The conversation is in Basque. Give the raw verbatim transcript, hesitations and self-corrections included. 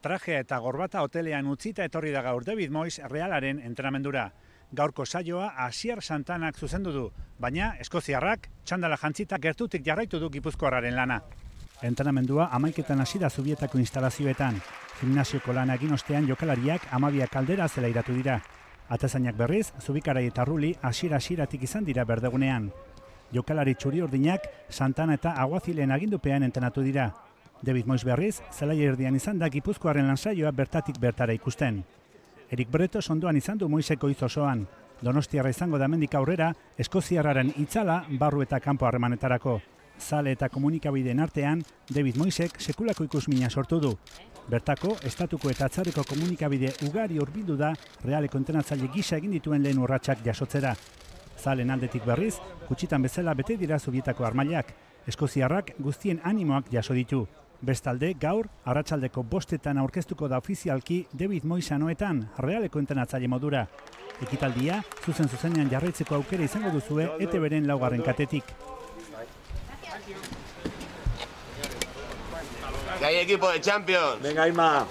Trajea eta gorbata hotelean utzita etorri da gaur David Moyes Realaren entrenamendura. Gaurko saioa Asier Santanak zuzendu du, baina eskoziarrak txandala jantzita gertutik jarraitu du gipuzkoarraren lana. Entrenamendua hamaiketan hasi da Zubietako instalazioetan. Gimnasioko lana egin ostean jokalariak hamabiak kaldera zela iratu dira. Atezainak berriz, Zubikarai eta Ruli hasiera-hasieratik izan dira berdegunean. Jokalari txuri urdinak Santana eta Aguazilen agindupean entrenatu dira. David Moyes berriz, zelai erdian izan da Gipuzkoarren lansaioa bertatik bertara ikusten. Erik Bretos ondoan izan du Moyeseko hitz osoan. Donostiarra izango da hemendik aurrera, eskoziarraren itzala barru eta kanpo harremanetarako. Zale eta komunikabideen artean, David Moyesek sekulako ikusmina sortu du. Bertako, estatuko eta atzarreko komunikabide ugari hurbildu da Realeko entrenatzaile gisa egin dituen lehen urratsak jasotzera. Zalen aldetik berriz, gutxitan bezala bete dira Zubietako armailak. Eskoziarrak guztien animoak jaso ditu. Bestalde, gaur, arratsaldeko bostetan aurkeztuko da ofizialki David Moyes anoetan Realeko entrenatzaile modura. Ekitaldia, zuzen zuzenean jarraitzeko aukera izango duzue E T Bren laugarren katetik. Que hay equipo de Champions. Venga, Ima.